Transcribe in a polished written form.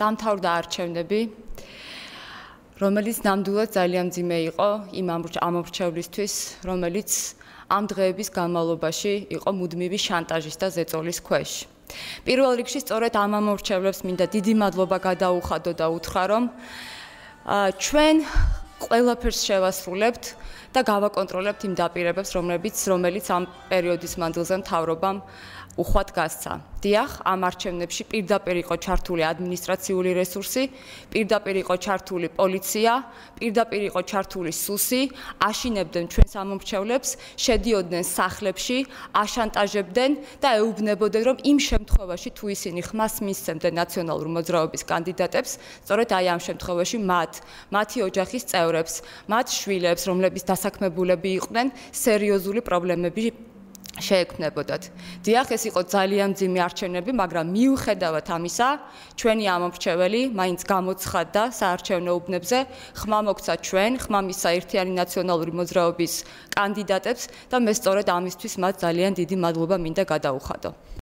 დამთავრდა არჩევნები, რომელიც ნამდვილად ძალიან მძიმე იყო იმ ამორჩევლისთვის, რომელიც ამ დღეების განმავლობაში იყო მუდმივი შანტაჟის და ზეწოლის ქვეშ. პირველ რიგში სწორედ ამ ამორჩევლებს მინდა დიდი მადლობა გადაუხადო და უთხრა, რომ ჩვენ ყველაფერს შევასრულებთ და გავაკონტროლებთ იმ დაპირებებს, რომელიც ამ პერიოდის მანძილზე მთავრობამ უხვად გასცა. დიახ, ამ არჩევნებში პირდაპირ იყო ჩართული ადმინისტრაციული რესურსი, პირდაპირ იყო ჩართული პოლიცია, პირდაპირ იყო ჩართული სუსი, აშინებდნენ ჩვენს ამორჩევლებს, შედიოდნენ სახლებში, აშანტაჟებდნენ და ეუბნებოდნენ, რომ იმ შემთხვევაში თუ ისინი ხმას მისცემდნენ ნაციონალური მოძრაობის კანდიდატებს, სწორედ აი ამ შემთხვევაში მათი ოჯახის წევრებს, მათ შვილებს, რომლებიც დასაქმებულები იყვნენ, სერიოზული პრობლემები შეექმნებოდათ. დიახ, ეს იყო ძალიან მძიმე არჩევნები, მაგრამ მიუხედავად ამისა, ჩვენი ამორჩეველი მაინც გამოცხადდა საარჩევნო უბნებზე, ხმა მოგცა ხმა მისცა ერთიანი ნაციონალური მოძრაობის კანდიდატებს და მე სწორედ ამისთვის მათ ძალიან დიდი მადლობა მინდა გადაუხადო.